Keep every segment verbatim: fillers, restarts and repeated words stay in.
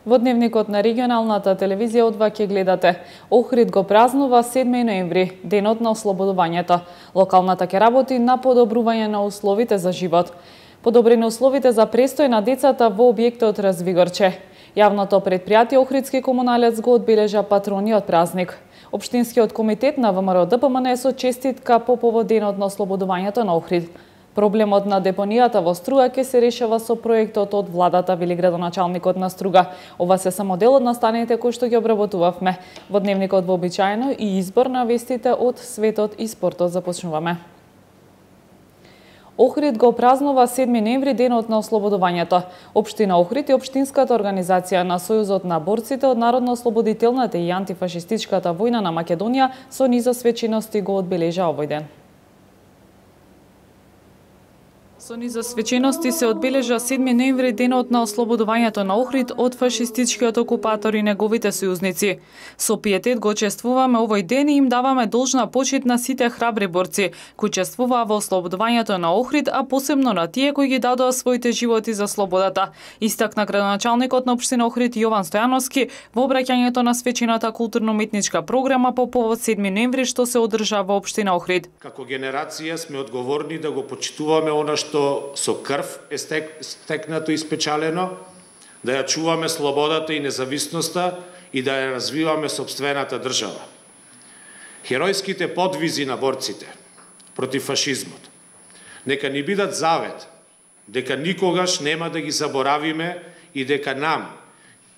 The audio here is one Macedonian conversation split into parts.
Во дневникот на регионалната телевизија од ва ќе гледате. Охрид го празнува седми ноември, денот на ослободувањето. Локалната ќе работи на подобрување на условите за живот. Подобрени условите за престој на децата во објектот Развигорче. Јавното предпријатие Охридски комуналец го одбележа патрониот празник. Општинскиот комитет на ВМРО Д П М Н со честитка по повод денот на ослободувањето на Охрид. Проблемот на депонијата во Струга ќе се решава со проектот од владата, вели градоначалникот на Струга. Ова се само дел од настаните кои што ги обработувавме. Во дневникот вообичаено и избор на вестите од светот и спортот започнуваме. Охрид го празнува седми ноември, денот на ослободувањето. Општина Охрид и Општинската организација на Сојузот на борците од Народно-ослободителната и антифашистичката војна на Македонија со низа свечености го одбележа овој ден. Со низа свечености се одбележа седми ноември, денот на ослободувањето на Охрид од фашистичкиот окупатор и неговите сојузници. Со пиетет го чествуваме овој ден и им даваме должна почит на сите храбри борци кои чествуваа во ослободувањето на Охрид, а посебно на тие кои ги дадоа своите животи за слободата. Истакна градоначалникот на општина Охрид Јован Стојановски во обраќањето на свечената културно-уметничка програма по повод седми ноември што се одржа во општина Охрид. Како генерација сме одговорни да го почитуваме она што со крв е стек, стекнато и спечалено, да ја чуваме слободата и независноста и да ја развиваме сопствената држава. Херојските подвизи на борците против фашизмот нека ни бидат завет, дека никогаш нема да ги заборавиме и дека нам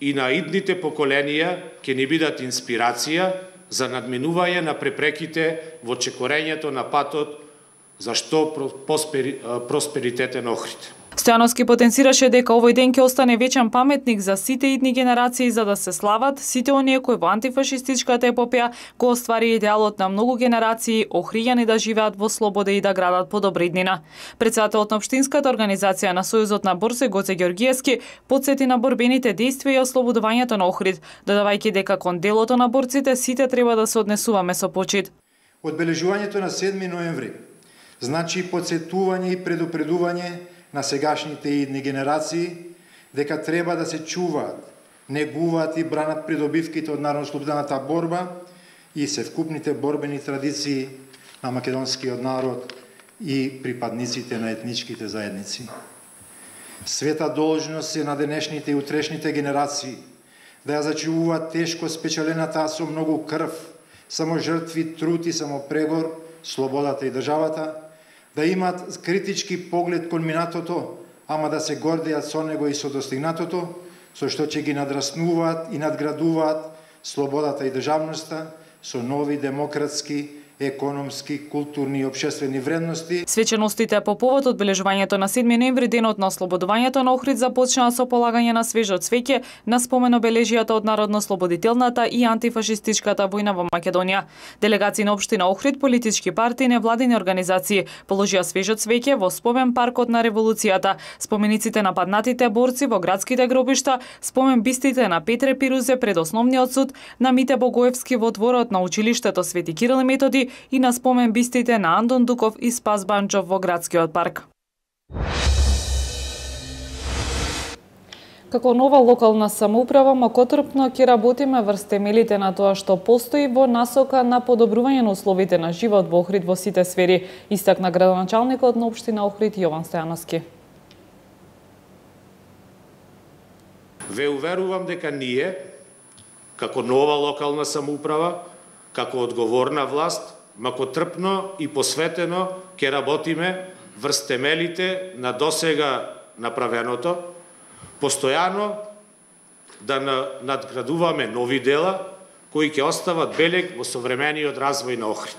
и на идните поколенија ќе ни бидат инспирација за надминување на препреките во чекорењето на патот зашто просперитетен Охрид. Стојановски потенцираше дека овој ден ќе остане вечен паметник за сите идни генерации за да се слават сите оние кои во антифашистичката епопеја го оствари идеалот на многу генерации охријани да живеат во слобода и да градат подобра иднина. Председателот на Општинската организација на Сојузот на борци Гоце Ѓоргиевски потсети на борбените дејствија и ослободувањето на Охрид, додавајќи дека кон делото на борците сите треба да се однесуваме со почит. Одбележувањето на седми ноември значи подсетување и предупредување на сегашните и идни генерации дека треба да се чуваат, негуваат и бранат придобивките од народно-ослободителната борба и севкупните борбени традиции на македонскиот народ и припадниците на етничките заедници. Света должност е на денешните и утрешните генерации да ја зачувуваат тешко спечалената со многу крв, само жртви, труд и само прегор, слободата и државата, да имат критички поглед кон минатото, ама да се гордеат со него и со достигнатото, со што ќе ги надраснуваат и надградуваат слободата и државноста со нови демократски, економски, културни и општествени вредности. Свеченостите по повод одбележувањето на седми ноември, денот на ослободувањето на Охрид, започнаа со полагање на свежо цвеќе на спомен обележијата од Народно-ослободителната и антифашистичката војна во Македонија. Делегации на општина Охрид, политички партии, невладини организации положија свежо цвеќе во спомен паркот на револуцијата, спомениците на паднатите борци во градските гробишта, спомен бистите на Петре Пирузе пред Основниот суд, на Мите Богоевски во дворот на училиштето Свети Кирил и Методи и на спомен бистите на Андон Дуков и Спас Банчов во градскиот парк. Како нова локална самоуправа, макотрпно ќе работиме врз темелите на тоа што постои во насока на подобрување на условите на живот во Охрид во сите сфери, истакна градоначалникот на општина Охрид Јован Стојановски. Ве уверувам дека ние, како нова локална самоуправа, како одговорна власт, макотрпно и посветено ќе работиме врз темелите на досега направеното, постојано да надградуваме нови дела кои ќе остават белег во современиот развој на Охрид.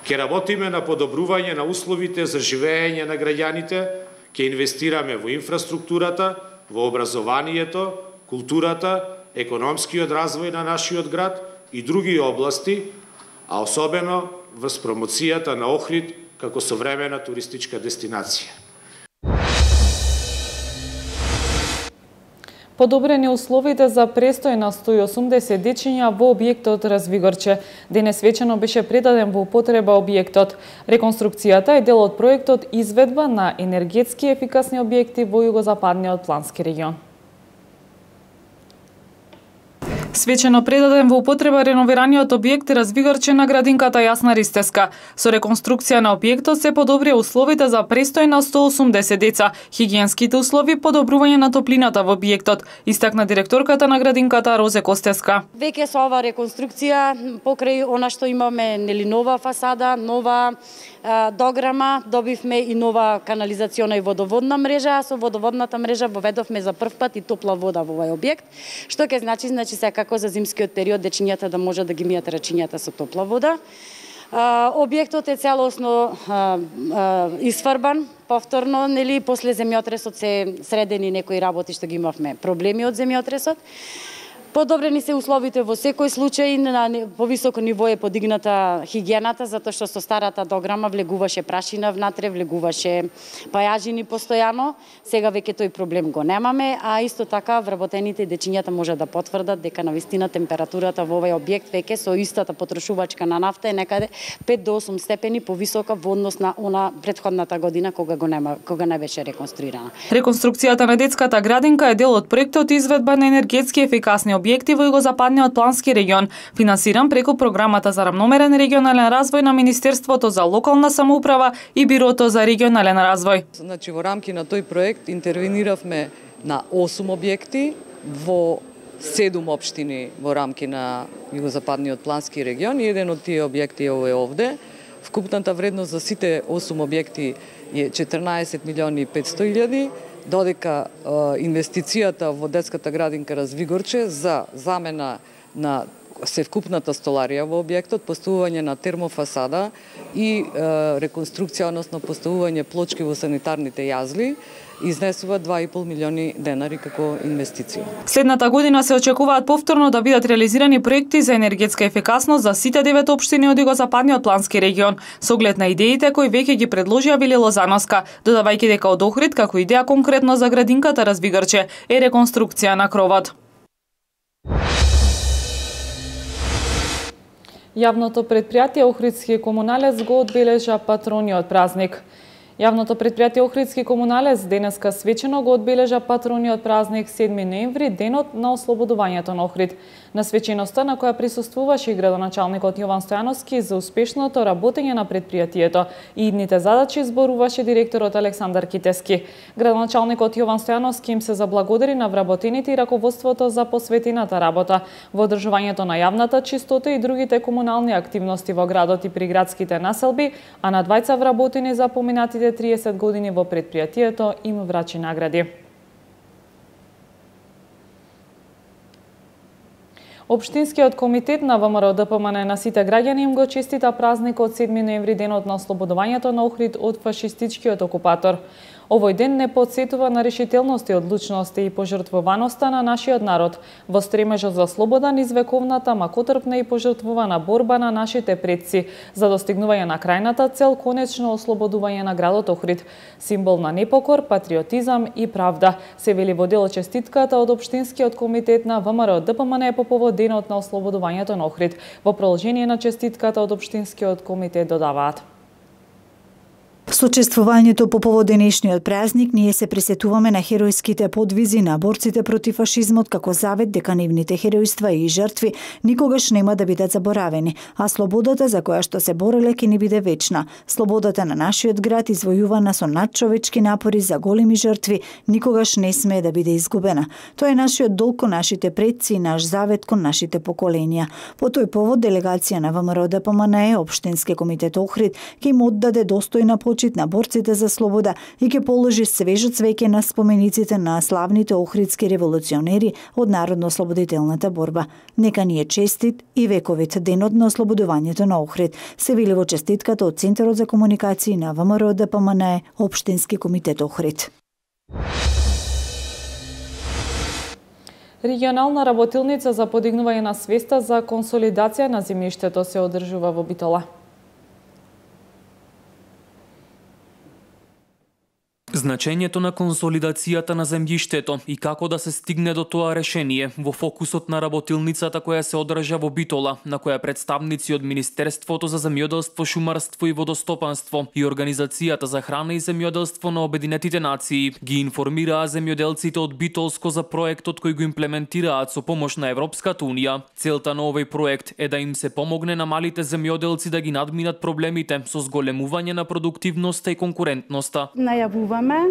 Ќе работиме на подобрување на условите за живење на граѓаните, ќе инвестираме во инфраструктурата, во образованието, културата, економскиот развој на нашиот град и други области, а особено врз промоцијата на Охрид како современа туристичка дестинација. Подобрени условите за престој на сто и осумдесет дечиња во објектот Развигорче. Денес вечерно беше предаден во употреба објектот. Реконструкцијата е дел од проектот изведба на енергетски ефикасни објекти во југозападниот плански регион. Свечено предаден во употреба реновираниот објект Развигарче на градинката Јасна Ристеска. Со реконструкција на објектот се подобрија условите за престој на сто осумдесет деца, хигиенските услови, подобрување на топлината во објектот, истакна директорката на градинката Розе Костеска. Веќе со ова реконструкција покрај она што имаме, нели, нова фасада, нова а, дограма, добивме и нова канализациона и водоводна мрежа, а со водоводната мрежа воведовме за прв пат и топла вода во овој објект, што ќе значи, значи се како за зимскиот период дечињата да може да ги мијат рачињата со топла вода. Објектот е целосно а, а, исфарбан, повторно, нели, после земјотресот се средени некои работи што ги имавме проблеми од земјотресот. Подобрени се условите во секој случај, на повисоко ниво е подигната хигиената, затоа што со старата дограма влегуваше прашина внатре, влегуваше пајажини постојано. Сега веќе тој проблем го немаме, а исто така вработените дечињата може да потврдат дека навистина температурата во овој објект веќе со истата потрошувачка на нафта е некаде пет до осум степени повисока во однос на она претходната година кога го нема, кога не беше реконструирана. Реконструкцијата на детската градинка е дел од проектот изведба на енергетски ефикасни објекти во југозападниот плански регион, финансиран преку програмата за рамномерен регионален развој на Министерството за локална самоуправа и Бирото за регионален развој. Значи во рамки на тој проект интервениравме на осум објекти во седум општини во рамки на југозападниот плански регион и еден од тие објекти е овде. Вкупната вредност за сите осум објекти е четрнаесет милиони и петсто илјади. Додека е, инвестицијата во детската градинка Развигорче за замена на севкупната столарија во објектот, поставување на термофасада и е, реконструкција, односно поставување плочки во санитарните јазли, изнесува два и пол милиони денари како инвестиција. Следната година се очекуваат повторно да бидат реализирани проекти за енергетска ефикасност за сите девет општини од југозападниот плански регион, со оглед на идеите кои веќе ги предложија Вили Лозановска, додавајќи дека од Охрид како идеја конкретно за градинката Развигарче е реконструкција на кровот. Јавното предпријатие Охридски комуналец го одбележа патрониот празник. Јавното предпријатие Охридски комуналец денеска свечено го одбележа патрониот празник седми ноември, денот на ослободувањето на Охрид. На свеченоста на која присуствуваше и градоначалникот Јован Стојановски за успешното работење на предпријатието и идните задачи зборуваше директорот Александар Китески. Градоначалникот Јован Стојановски им се заблагодари на вработените и раководството за посветената работа во одржувањето на јавната чистота и другите комунални активности во градот и при градските населби, а на двајца вработени за поминатите триесет години во предпријатието им врачи награди. Општинскиот комитет на ВМРО Д П М Н на сите граѓани им го честита празникот седми ноември, денот на ослободувањето на Охрид од фашистичкиот окупатор. Овој ден не потсетува на решителност и одлучност и пожртвуваноста на нашиот народ во стремежот за слобода низ вековната макотрпна и пожртвувана борба на нашите предци за достигнување на крајната цел, конечно ослободување на градот Охрид, символ на непокор, патриотизам и правда, се вели во дел честитката од Општинскиот комитет на ВМРО Д П М Н по повод денот на ослободувањето на Охрид. Во продолжение на честитката од Општинскиот комитет додаваат: Со чествувањето по повод денешниот празник, ние се присетуваме на херојските подвизи на борците против фашизмот како завет дека нивните херојства и жртви никогаш нема да бидат заборавени, а слободата за која што се бореле ќе ни биде вечна. Слободата на нашиот град, извојувана со надчовечки напори за големи жртви, никогаш не смее да биде изгубена. Тоа е нашиот долг кон нашите предци и наш завет кон нашите поколенија. По тој повод делегација на ВМРО Д П М Н, Општински комитет Охрид, ќе им оддаде достојна почит на борците за слобода и ќе положи свежо цвеќе на спомениците на славните охридски револуционери од народно-ослободителната борба. Нека ни е честит и вековит денот на ослободувањето на Охрид, се вели во честитката од Центарот за комуникации на ВМРО Д П М Н, Општински комитет Охрид. Регионална работилница за подигнување на свеста за консолидација на земјиштето се одржува во Битола. Значењето на консолидацијата на земјиштето и како да се стигне до тоа решение во фокусот на работилницата која се одржа во Битола, на која представници од Министерството за земјоделство, шумарство и водостопанство и Организацијата за храна и земјоделство на Обединетите нации ги информираа земјоделците од Битолско за проектот кој го имплементираат со помош на Европската унија. Целта на овој проект е да им се помогне на малите земјоделци да ги надминат проблемите со зголемување на продуктивноста и конкурентноста. Најавуваме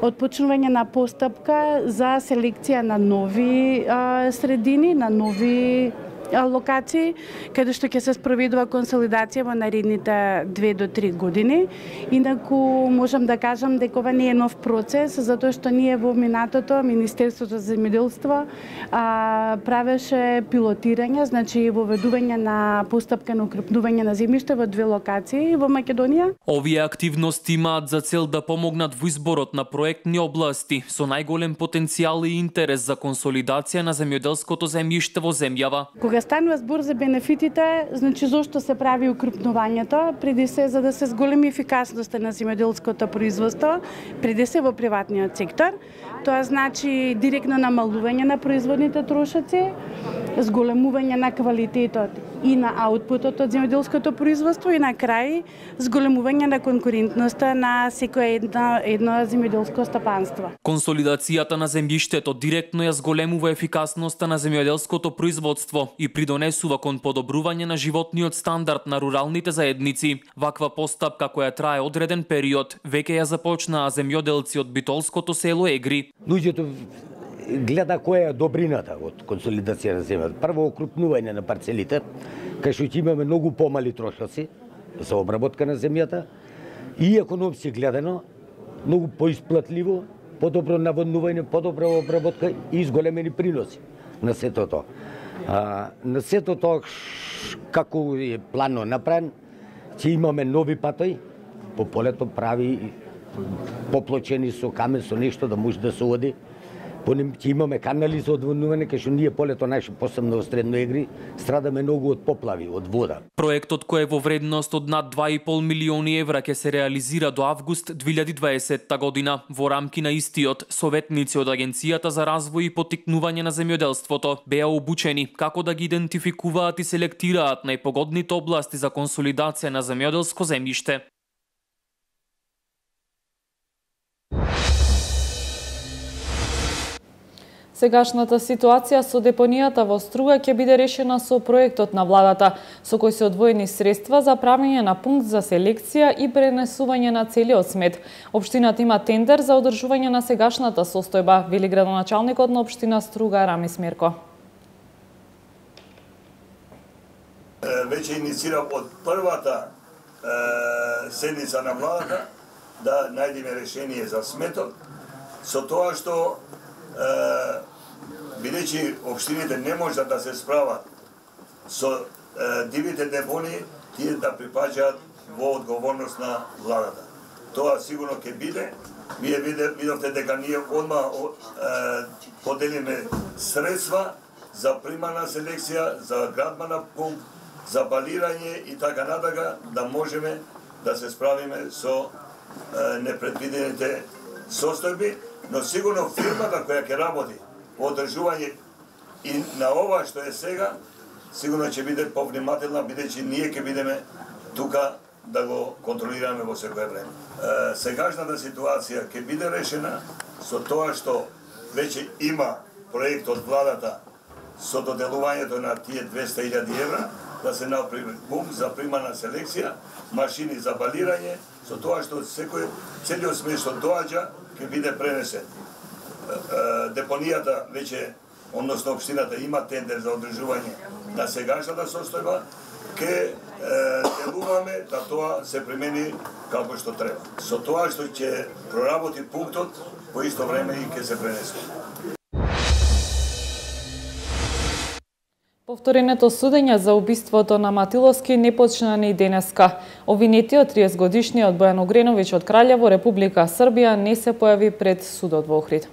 отпочнување на постапка за селекција на нови а, средини, на нови а, локации, каде што ќе се спроведува консолидација во наредните две до три години. Инаку можам да кажам дека ова не е нов процес, затоа што ние во минатото Министерството за земјоделство а, правеше пилотирање, значи воведување на постапка на укрупнување на земјиште во две локации во Македонија. Овие активности имаат за цел да помогнат во изборот на проектни области со најголем потенцијал и интерес за консолидација на земјоделското земјиште во земјава. Кога станува збор за бенефитите, значи зошто се прави укрупнувањето? Преди се за да се зголеми ефикасноста на земјоделското производство, преди се во приватниот сектор. Тоа значи директно намалување на производните трошоци, зголемување на квалитетот и на аутпутот од земјоделското производство и на крај зголемување на конкурентноста на секое едно, едно земјоделско стопанство. Консолидацијата на земјиштето директно ја зголемува ефикасноста на земјоделското производство и придонесува кон подобрување на животниот стандард на руралните заедници. Ваква постапка која трае одреден период веќе ја започнаа земјоделци од битолското село Егри. Луѓето гледа која е добрината од консолидација на земјата. Прво окрупнување на парцелите, кај што ќе имаме многу помали трошоци за обработка на земјата и економски гледано многу поисплатливо, подобро наводнување, подобра обработка и зголемени приноси на сето тоа. А, на сето тоа како е планно направен, ќе имаме нови патои, по полето прави поплочени со камен, со нешто да може да се оди. Понем ќе имаме канали за одводнување, кај што ние полето наше, посебно во Средно Егри, страдаме многу од поплави, од вода. Проектот кој е во вредност од над два и пол милиони евра ќе се реализира до август две илјади и дваесетта година. Во рамки на истиот, советници од Агенцијата за развој и поттикнување на земјоделството беа обучени како да ги идентификуваат и селектираат најпогодните области за консолидација на земјоделско земјиште. Сегашната ситуација со депонијата во Струга ќе биде решена со проектот на владата, со кој се одвоени средства за правење на пункт за селекција и пренесување на целиот смет. Општината има тендер за одржување на сегашната состојба, вели градоначалникот на општина Струга Рамис Мерко. Веќе инициирав од првата е, седница на владата да најдеме решение за сметот, со тоа што бидејќи општините не можат да се справат со е, дивите депони, тие да припаѓаат во одговорност на владата. Тоа сигурно ќе биде. Вие видовте дека ние одма е, поделиме средства за примана селекција, за градба на пункт, за балирање и така натака, да можеме да се справиме со е, непредвидените состојби, но сигурно фирмата која ќе работи во одржување и на ова што е сега, сигурно ќе биде повнимателна, бидејќи ние ќе бидеме тука да го контролираме во секое време. Е, сегашната ситуација ќе биде решена со тоа што веќе има проект од владата со доделувањето на тие двеста илјади евра, да се направи пункт за примана селекција, машини за балирање, со тоа што секој целиот смет што доаѓа ќе биде пренесен. Депонијата веќе, односно општината има тендер за одржување на сегашната состојба, ќе делуваме да тоа се примени како што треба. Со тоа што ќе проработи пунктот, по исто време и ќе се пренесе. Повтореното судење за убиството на Матиловски не почна ни денеска. Обвинетиот триесетгодишниот Бојан Огреновиќ од Краљево, Република Србија, не се појави пред судот во Охрид.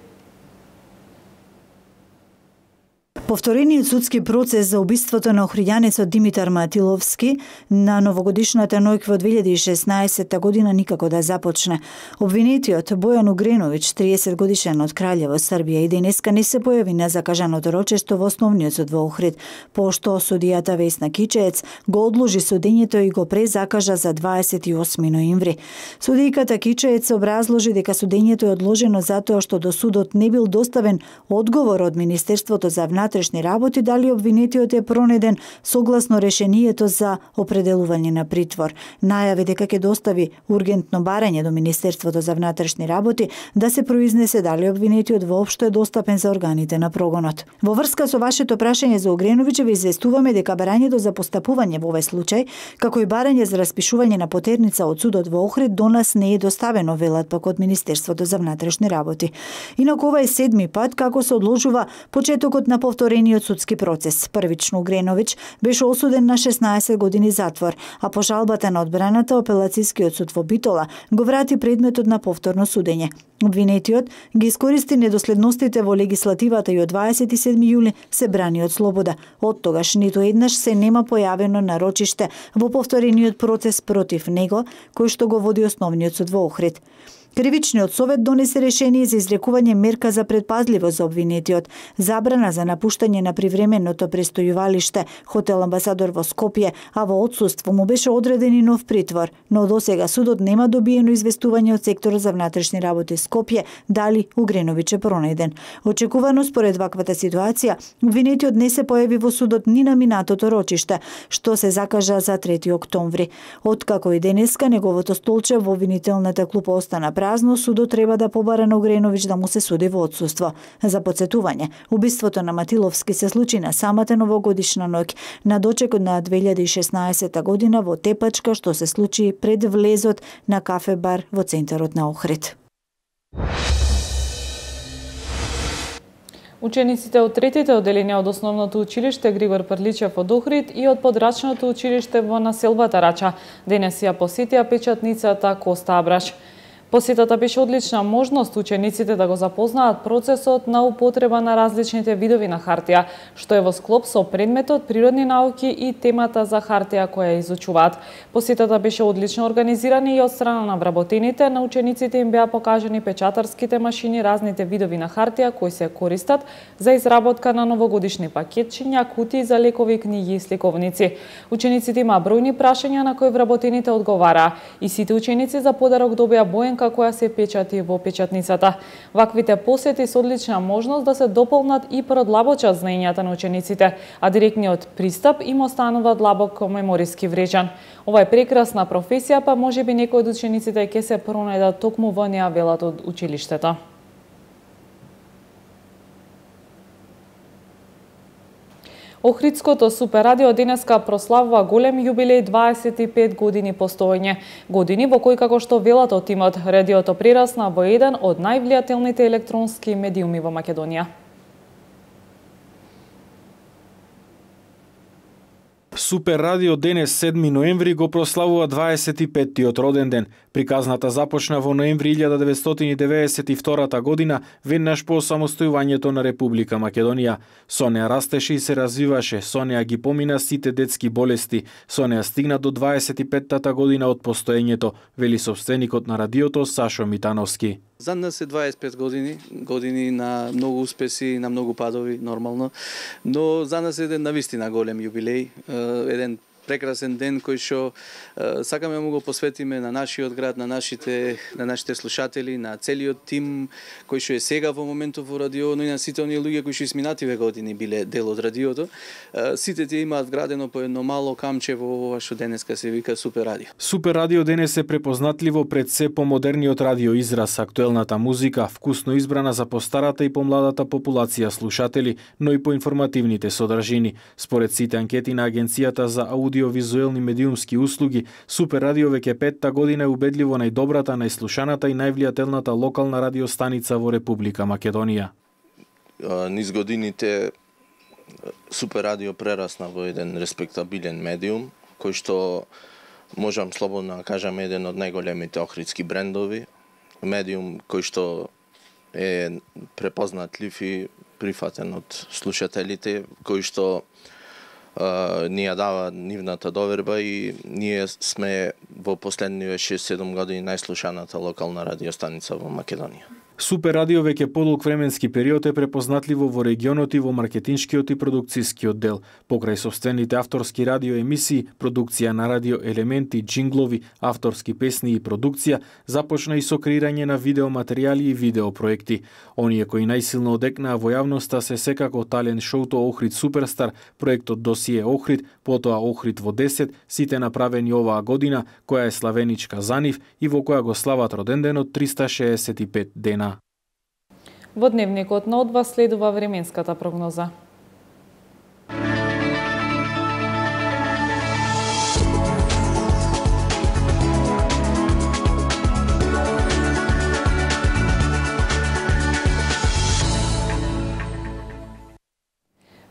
Повторениот судски процес за убиството на охриѓанецот Димитар Матиловски на новогодишната ноќ во две илјади и шеснаесетта година никако да започне. Обвинетиот Бојан Угреновиќ, триесет годишен од Краљево, Србија, и денеска не се појави на закажаното рочешто во основниот суд во Охрид, пошто судијата Весна Кичеец го одложи судењето и го презакажа за дваесет и осми ноември. Судијката Кичеец образложи дека судењето е одложено затоа што до судот не бил доставен одговор од Министерството за внатрешни работи дали обвинетиот е пронеден согласно решението за определување на притвор. Најави дека ќе достави ургентно барање до Министерството за внатрешни работи да се произнесе дали обвинетиот воопшто е достапен за органите на прогонот. Во врска со вашето прашање за Угреновиќ ви известуваме дека барањето за постапување во овој случај, како и барање за распишување на потерница од судот во Охрид до нас не е доставено, велат пак од Министерството за внатрешни работи. Инаку ова е седми пат како се одложува почетокот на повторениот судски процес. Првично Угреновиќ беше осуден на шеснаесет години затвор, а по жалбата на одбраната Апелацијскиот суд во Битола го врати предметот на повторно судење. Обвинетиот ги искористи недоследностите во легислативата и од дваесет и седми јули се брани од слобода. Од тогаш ниту еднаш се нема појавено нарочиште во повторениот процес против него, кој што го води основниот суд во Охрид. Кривичниот совет донесе решение за изрекување мерка за предпазливост за обвинетиот, забрана за напуштање на привременото престојувалиште хотел Амбасадор во Скопје, а во отсуство му беше одреден и нов притвор, но досега судот нема добиено известување од секторот за внатрешни работи Скопје дали Угреновиќ е пронеден. Очекувано според ваквата ситуација, обвинетиот не се појави во судот ни на минатото рочиште, што се закажа за трети октомври. Откако и денеска неговото столче во обвинителната клупа остана празно, судот треба да побара на Угреновиќ да му се суди во отсуство. За потсетување, убиството на Матиловски се случи на самата новогодишна ноќ, на дочекот на две илјади и шеснаесетта година во Тепачка, што се случи пред влезот на кафе-бар во центарот на Охрид. Учениците од третите одделенија од основното училиште Григор Прличев од Охрид и од подрачното училиште во населбата Рача денес ја посетија печатницата Коста Абраш. Посетата беше одлична можност учениците да го запознаат процесот на употреба на различните видови на хартија, што е во склоп со предметот природни науки и темата за хартија која изучуваат. Посетата беше одлично организирана и од страна на вработените, на учениците им беа покажани печатарските машини, разните видови на хартија кои се користат за изработка на новогодишни пакетчиња, кутии за лекови, книги и сликовници. Учениците имаа бројни прашања на кои вработените одговараа и сите ученици за подарок добија боен која се печати во печатницата. Ваквите посети се одлична можност да се дополнат и продлабочат знаењата на учениците, а директниот пристап им останува длабоко мемориски врежан. Ова е прекрасна професија, па можеби некои од учениците ќе се пронајдат токму во неа, велат од училиштето. Охридското Супер радио денеска прославува голем јубилеј дваесет и пет години постоење. Години во кои, како што велат од тимот, радиото прерасна во еден од највлијателните електронски медиуми во Македонија. Супер радио денес седми ноември го прославува дваесет и петтиот роден ден. Приказната започна во ноември илјада деветстотини деветдесет и втората година, веднаш по самостојувањето на Република Македонија. Со неа растеше и се развиваше, со неа ги помина сите детски болести, со неа стигна до дваесет и петтата година од постоењето, вели собственикот на радиото Сашо Митановски. За нас е дваесет и пет години, години на многу успеси, на многу падови, нормално, но за нас е еден навистина голем јубилеј, еден прекрасен ден кој што сакаме му го посветиме на нашиот град, на нашите на нашите слушатели, на целиот тим кој што е сега во моментов во радио, но и на сите оние луѓе кои што изминативе години биле дел од радиото. Сите тие имаат вградено по едно мало камче во ова што денеска се вика Супер радио. Супер радио денес е препознатливо пред се помодерниот радио израз, актуелната музика, вкусно избрана за постарата и помладата популација слушатели, но и по информативните содржини. Според сите анкети на Агенцијата за аудиовизуелни медиумски услуги, Супер радио веќе петта година е убедливо најдобрата, најслушаната и највлијателната локална радиостаница во Република Македонија. Низ годините Супер радио прерасна во еден респектабилен медиум, кој што можам слободно да кажам еден од најголемите охридски брендови, медиум кој што е препознатлив и прифатен од слушателите, кои што uh, ни ја дава нивната доверба и ние сме во последниве шест-седум години најслушаната локална радиостаница во Македонија. Супер радио веќе подолг временски период е препознатливо во регионот и во маркетиншкиот и продукцијскиот дел. Покрај собствените авторски радиоемисии, продукција на радио елементи, джинглови, авторски песни и продукција, започна и со креирање на видеоматеријали и видеопроекти. Оние кои најсилно одекнаа во јавноста се секако талент шоуто Охрид Суперстар, проектот Досие Охрид, потоа Охрид во десет, сите направени оваа година, која е славеничка за нив и во која го слават роденденот триста шеесет и пет дена. Во дневникот на одва следува временската прогноза.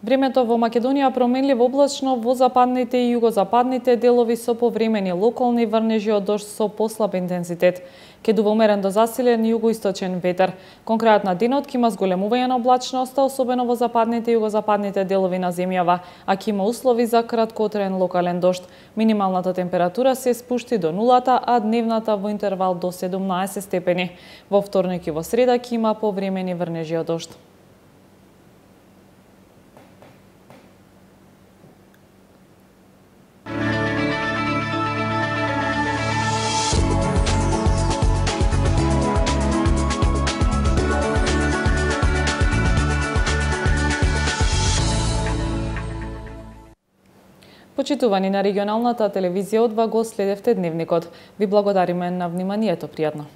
Времето во Македонија променливо облачно во западните и југозападните делови со повремени локални врнежи од дожд со послаб интензитет. Ке дува умерен до засилен југоисточен ветер. Кон крајот на денот ќе има зголемување на облачноста, особено во западните и југозападните делови на земјава, а ќе има услови за краткотраен локален дожд. Минималната температура се спушти до нулата, а дневната во интервал до седумнаесет степени. Во вторник и во среда ќе има повремени врнежи од дожд. Почитувани на регионалната телевизија одва го следевте дневникот. Ви благодариме на вниманието, пријатно.